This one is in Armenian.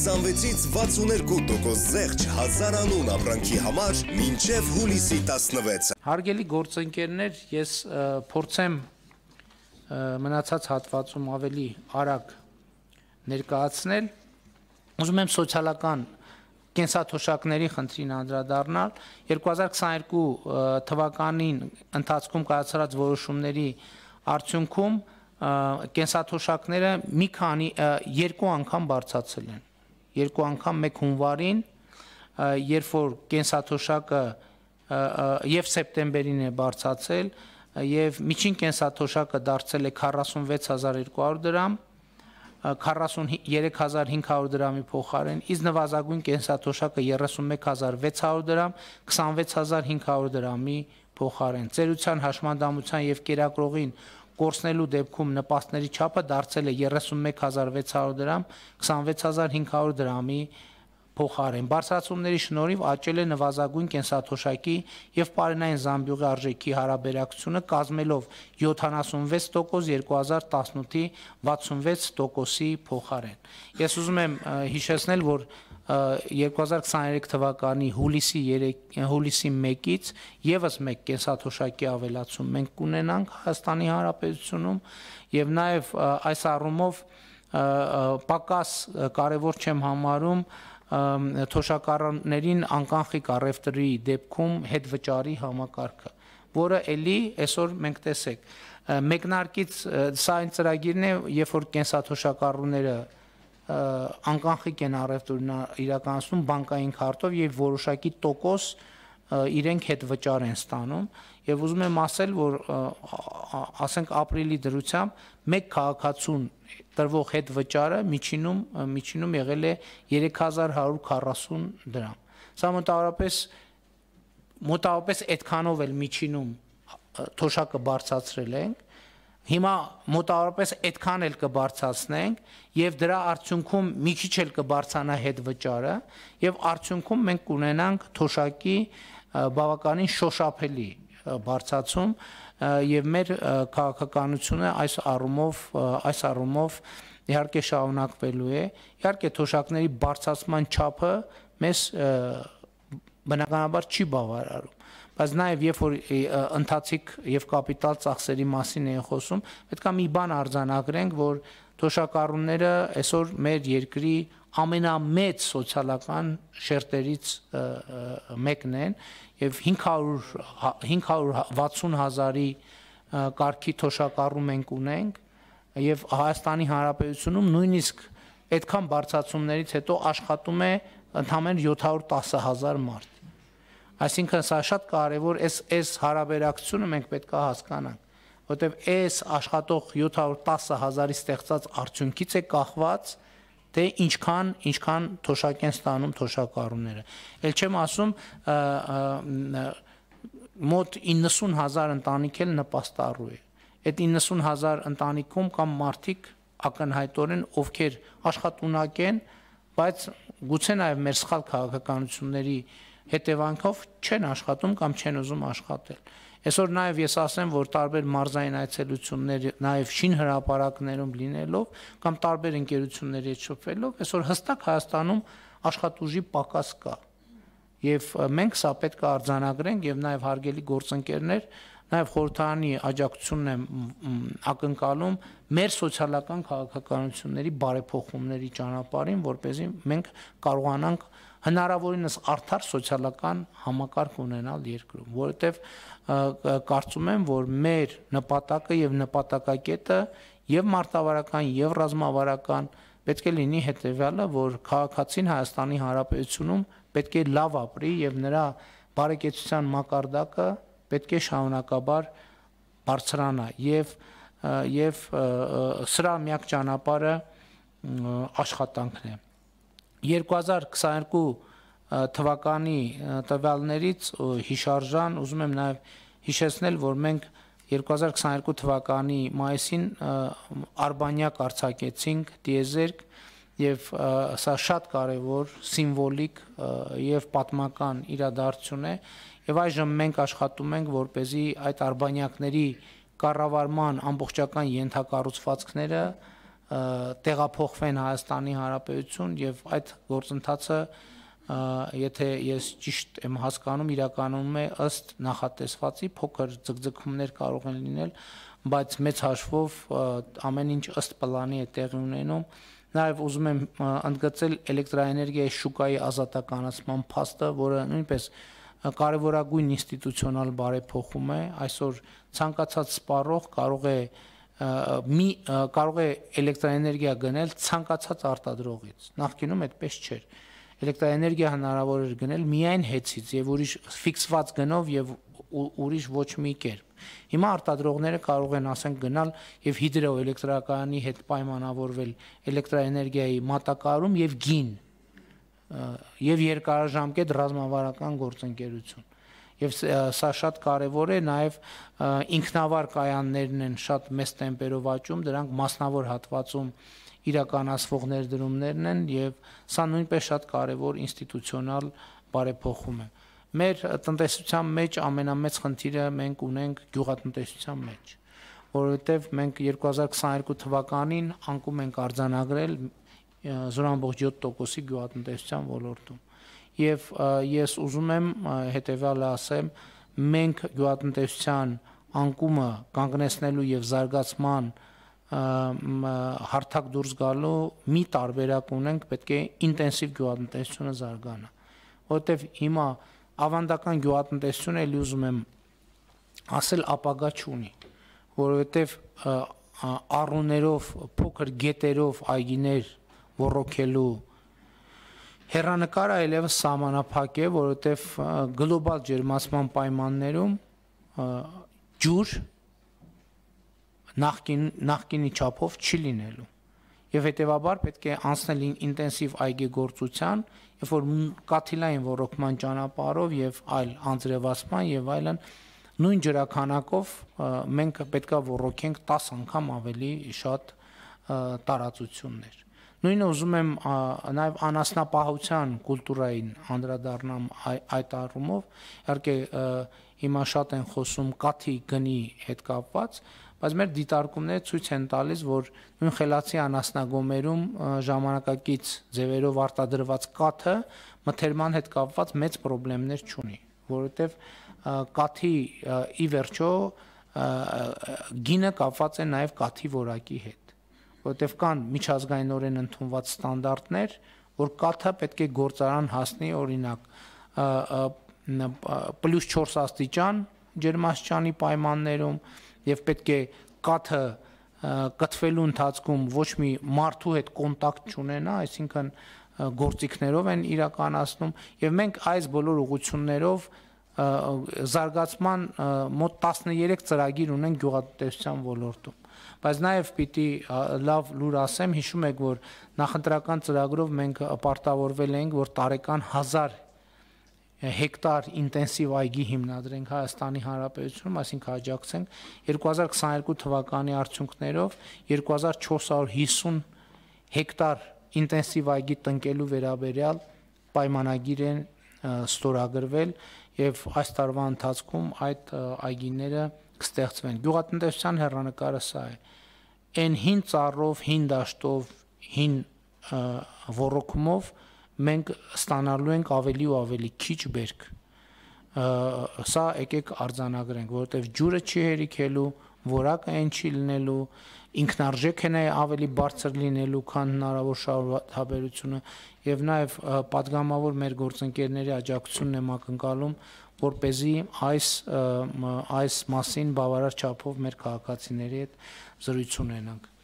26-ից 62% զեղչ 1000 անուն ապրանքի համար մինչև հուլիսի 16-ը։ Հարգելի գործընկերներ, ես փորձեմ մնացած հատվածում ավելի արագ ներկայացնել։ Ուզում եմ սոցիալական կենսաթոշակների խնդրին անդրադառնալ 2022 թվականին ընթացքում կայացած որոշումների արդյունքում կենսաթոշակները մի քանի երկու անգամ բարձրացել են։ Երկու անգամ մեկ հունվարին, երբ որ կենսաթոշակը եւ սեպտեմբերին է բարձրացել եւ միջին կենսաթոշակը դարձել է 46200 դրամ 43500 դրամի փոխարեն, իսկ նվազագույն կենսաթոշակը 31600 դրամ 26500 դրամի փոխարեն։ Ծերության հաշմանդամության եւ կերակրողին կորցնելու դեպքում նպաստների չափը դարձել է 31600 դրամ 26500 դրամի փոխարեն։ Բարձրացումների շնորհիվ աճել է նվազագույն կենսաթոշակի եւ պարենային զամբյուղի արժեքի հարաբերակցությունը կազմելով 76% 2018-ի 66%-ի փոխարեն։ Ես ուզում եմ հիշեցնել, որ 2023 թվականի հուլիսի 1-ից եւս մեկ կենսաթոշակի ավելացում մենք կունենանք Հայաստանի Հանրապետությունում եւ նաեւ այս առումով պակաս կարեւոր չեմ համարում թոշակառուներին անկանխիկ առևտրի դեպքում հետվճարի համակարգը, որը էլի այսօր մենք տեսեք մեկնարկից սա այն ծրագիրն է, երբ որ կենսաթոշակառուները անկանխիկ են առևտուրն իրականացնում բանկային քարտով եւ որոշակի տոկոս իրենք հետվճար են ստանում եւ ուզում եմ ասել, որ ասենք ապրիլի դրությամբ մեկ քաղաքացուն տրվող հետվճարը միջինում եղել է 3140 դրամ։ Սա մոտավորապես այդքանով էլ միջինում թոշակը բարձրացրել ենք։ Հիմա մոտավորապես այդքան էլ կբարձրացնենք եւ դրա արդյունքում մի քիչ էլ կբարձրանա հետվճարը եւ արդյունքում մենք կունենանք թոշակի բավականին շոշափելի բարձրացում եւ մեր քաղաքականությունը այս առումով իհարկե շարունակվելու է։ Իհարկե թոշակների բարձրացման չափը մեզ բնականաբար չի բավարարում, բայց նաեւ երբ որ ընթացիկ եւ կապիտալ ծախսերի մասին է խոսում, պետք է մի բան արձանագրենք, որ թոշակառուները այսօր մեր երկրի ամենամեծ սոցիալական շերտերից մեկն են եւ 560,000-ի կարգի թոշակառու մենք ունենք եւ Հայաստանի Հանրապետությունում նույնիսկ այդքան բարձրացումներից հետո աշխատում է ընդամենը 710,000 մարդ։ Այսինքն սա շատ կարևոր այս հարաբերակցությունը մենք պետք է հասկանանք, որտեղ այս աշխատող 710,000-ի ստեղծած արդյունքից է կախված թե ինչքան թոշակ են ստանում թոշակառուները։ Էլ չեմ ասում մոտ 90,000 ընտանիք էլ նպաստառու է։ Այդ 90,000 ընտանիքում կամ մարդիկ ակնհայտորեն ովքեր աշխատունակ են, բայց գուցե նաև մեր սխալ քաղաքականությունների հետևանքով չեն աշխատում կամ չեն ուզում աշխատել։ Այսօր նաև ես ասեմ, որ տարբեր մարզային այցելություններ, նաև շինհրապարակներում լինելով կամ տարբեր ընկերությունների հետ շփվելով, այսօր հստակ Հայաստանում աշխատուժի պակաս կա։ Եվ մենք սա պետք է արձանագրենք եւ նաև հարգելի գործընկերներ, նաև խորհրդարանի աջակցությունն եմ ակնկալում մեր սոցիալական քաղաքականությունների բարեփոխումների ճանապարհին, որպեսզի մենք կարողանանք հնարավորինս արդար սոցիալական համակարգ ունենալ երկրում, որովհետև կարծում եմ, որ մեր նպատակը եւ նպատակակետը եւ մարտավարական եւ ռազմավարական պետք է լինի հետեւյալը, որ քաղաքացին Հայաստանի Հանրապետությունում պետք է լավ ապրի եւ նրա բարեկեցության մակարդակը պետք է շարունակաբար բարձրանա եւ սրա միակ ճանապարհը աշխատանքն է։ 2022 թվականի տվյալներից հիշարժան ուզում եմ նաև հիշեցնել, որ մենք 2022 թվականի մայիսին Արբանյակ արձակեցինք տիեզերք եւ սա շատ կարեւոր սիմվոլիկ եւ պատմական իրադարձություն է եւ այժմ մենք աշխատում ենք որպեսզի այդ արբանյակների կառավարման ամբողջական ենթակառուցվածքները տեղափոխվեն Հայաստանի Հանրապետություն եւ այդ գործընթացը եթե ես ճիշտ եմ հասկանում, իրականում է ըստ նախատեսվածի, փոքր ձգձգումներ կարող են լինել, բայց մեծ հաշվով ամեն ինչ ըստ պլանի է տեղի ունենում։ Նաև ուզում եմ ընդգծել էլեկտրաէներգիայի շուկայի ազատականացման փաստը, որը նույնպես կարևորագույն ինստիտուցիոնալ բարեփոխում է։ Այսօր ցանկացած սպառող կարող է էլեկտրաէներգիա գնել ցանկացած արտադրողից։ Նախկինում այդպես չէր։ Էլեկտրաէներգիա հնարավոր էր գնել միայն հեծից եւ ուրիշ ֆիքսված գնով եւ ուրիշ ոչ մի կերպ։ Հիմա արտադրողները կարող են ասենք գնալ եւ հիդրոէլեկտրակայանի հետ պայմանավորվել էլեկտրաէներգիայի մատակարարում եւ գին եւ երկարաժամկետ ռազմավարական գործընկերություն։ Եվ սա շատ կարևոր է, նաեւ ինքնավար կայաններն են շատ մեծ տեմպերով աճում, դրանք մասնավոր հատվածում իրականացվող ներդրումներն են եւ սա նույնպես շատ կարևոր ինստիտուցիոնալ բարեփոխում է։ Մեր տնտեսության մեջ ամենամեծ խնդիրը մենք ունենք գյուղատնտեսության մեջ, որովհետեւ մենք 2022 թվականին անկում ենք արձանագրել 0.7%-ի գյուղատնտեսության ոլորտում։ Եվ ես ուզում եմ հետեւյալը ասեմ, մենք գյուղատնտեսության անկումը կանգնեցնելու եւ զարգացման հարթակ դուրս գալու մի տարբերակ ունենք, պետք է ինտենսիվ գյուղատնտեսությունը զարգանա, որովհետև հիմա ավանդական գյուղատնտեսությունը էլի ուզում եմ ասել ապագա չունի, որովհետև առուներով, փոքր գետերով այգիներ ոռոգելու հեռանկարը այլևս սահմանափակ է, որովհետև գլոբալ ջերմացման պայմաններում ջուր նախկինի չափով չի լինելու եւ հետեւաբար պետք է անցնել ինտենսիվ այգեգործության, երբ որ կաթիլային ոռոգման ճանապարհով եւ այլ անձրևացման եւ այլն նույն ջրաքանակով մենք պետքա ոռոգենք 10 անգամ ավելի շատ տարածություններ։ Նույնը ուզում եմ նաեւ անասնապահության կուլտուրային անդրադառնամ այդ առումով, իհարկե հիմա շատ են խոսում կաթի գնի հետ կապված, բայց մեր դիտարկումները ցույց են տալիս, որ նույն խելացի անասնագոմերում ժամանակակից ձևերով արտադրված կաթը մթերման հետ կապված մեծ խնդիրներ չունի, որովհետև կաթի ի վերջո գինը կապված է նաև կաթի որակի հետ, որովհետև կան միջազգայինորեն ընդունված ստանդարտներ, որ կաթը պետք է գործարան հասնի, օրինակ +4 աստիճան ջերմաստիճանի պայմաններում եւ պետք է կաթը կթվելու ընթացքում ոչ մի մարդու հետ կոնտակտ չունենա, այսինքն գործիքներով են իրականացնում եւ մենք այս բոլոր ուղղություններով զարգացման մոտ 13 ծրագիր ունենք գյուղատնտեսության ոլորտում, բայց նաեւ պիտի լավ լուր ասեմ, հիշում եք, որ նախընտրական ծրագրով մենք պարտավորվել ենք, որ տարեկան 1000 հեկտար ինտենսիվ այգի հիմնադրենք Հայաստանի Հանրապետությունում, այսինքն աջակցենք 2022 թվականի արդյունքներով 2450 հեկտար ինտենսիվ այգի տնկելու վերաբերյալ պայմանագիր են ստորագրվել եւ այս տարվա ընթացքում այդ այգիները կստեղծվեն։ Գյուղատնտեսության հեռանկարը սա է։ Այն հին ծառով, հին դաշտով, հին ոռոգումով մենք ստանալու ենք ավելի ու ավելի քիչ բերք։ Սա եկեք արձանագրենք, որովհետև ջուրը չի հերիքելու, որակը այն չի լինելու, ինքնարժեքն է ավելի բարձր լինելու, քան հնարավոր շահութաբերությունը եւ նաեւ պատգամավոր մեր գործընկերների աջակցությունն եմ ակնկալում, որպեսզի այս մասին բավարար չափով մեր քաղաքացիների հետ զրույց ունենանք։